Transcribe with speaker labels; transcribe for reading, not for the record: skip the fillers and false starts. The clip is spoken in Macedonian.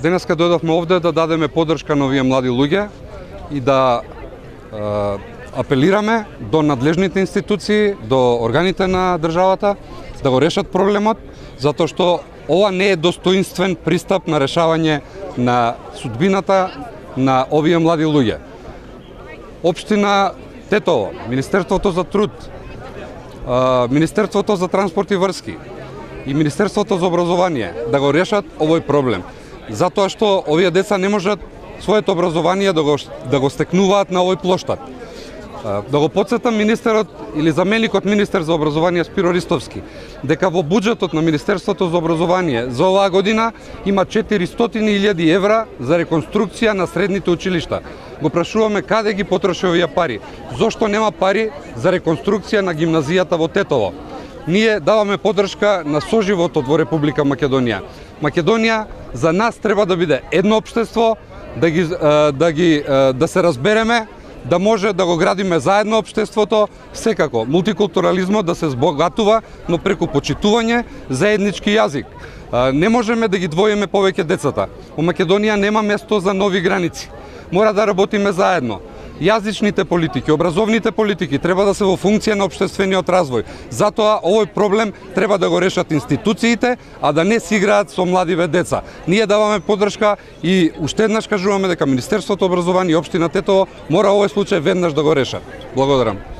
Speaker 1: Денеска дојдовме овде да дадеме поддршка на овие млади луѓе и да апелираме до надлежните институции, до органите на државата да го решат проблемот, затоа што ова не е достоинствен пристап на решавање на судбината на овие млади луѓе. Општина Тетово, Министерството за труд, Министерството за транспорт и врски и Министерството за образование да го решат овој проблем. Затоа што овие деца не можат своето образование да го стекнуваат на овој плоштад. Да го потсетам министерот или заменикот министер за образование Спиро Ристовски, дека во буџетот на Министерството за образование за оваа година има 400.000 евра за реконструкција на средните училишта. Го прашуваме каде ги потроши овие пари? Зошто нема пари за реконструкција на гимназијата во Тетово? Ние даваме поддршка на соживотот во Република Македонија. Македонија за нас треба да биде едно општество, да се разбереме, да може да го градиме заедно општеството, секако мултикултурализмот да се збогатува, но преку почитување заеднички јазик. Не можеме да ги двоиме повеќе децата. Во Македонија нема место за нови граници. Мора да работиме заедно. Јазичните политики, образовните политики треба да се во функција на општествениот развој. Затоа овој проблем треба да го решат институциите, а да не си играат со младиве деца. Ние даваме поддршка и уште еднаш кажуваме дека Министерството образование и општина Тетово мора овој случај веднаш да го решат. Благодарам.